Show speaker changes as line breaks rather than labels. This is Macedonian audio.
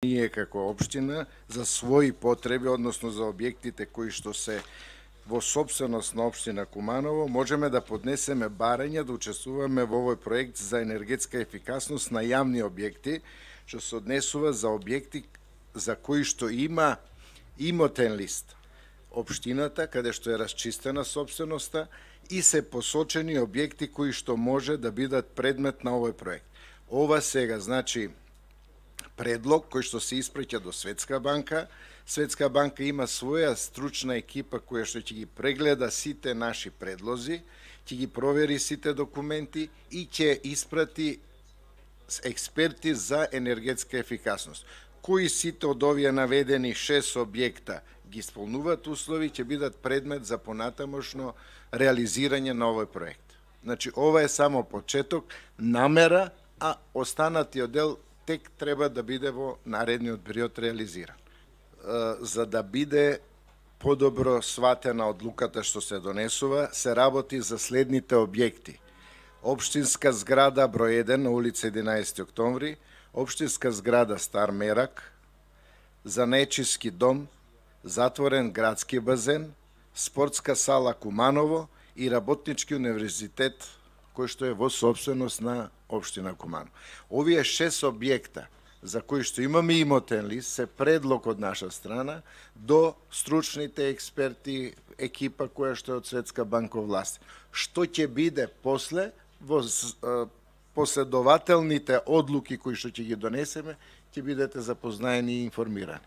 ние како општина за своји потреби, односно за објектите кои што се во собственост на општина Куманово, можеме да поднесеме барање да учествуваме во овој проект за енергетска ефикасност на јавни објекти, што се однесува за објекти за кои што има имотен лист. Општината, каде што е расчистена собственоста и се посочени објекти кои што може да бидат предмет на овој проект. Ова сега, значи, предлог кој што се испраќа до Светска банка. Светска банка има своја стручна екипа која што ќе ги прегледа сите наши предлози, ќе ги провери сите документи и ќе испрати експерти за енергетска ефикасност. Кои сите од овие наведени 6 објекта ги исполнуваат услови, ќе бидат предмет за понатамошно реализирање на овој проект. Значи, ова е само почеток, намера, а останатиот дел тек треба да биде во наредниот период реализиран. За да биде подобро сватена одлуката што се донесува, се работи за следните објекти. Општинска зграда број 1 на улица 11 октомври, општинска зграда Стар Мерак, Занечиски дом, затворен градски базен, спортска сала Куманово и работнички универзитет кој што е во собственост на општина Куманово. Овие 6 објекта за кои што имаме имотен лист се предлог од наша страна до стручните експерти, екипа која што е од Светска банка власт. Што ќе биде после во последователните одлуки кои што ќе ги донесеме, ќе бидете запознаени и информирани.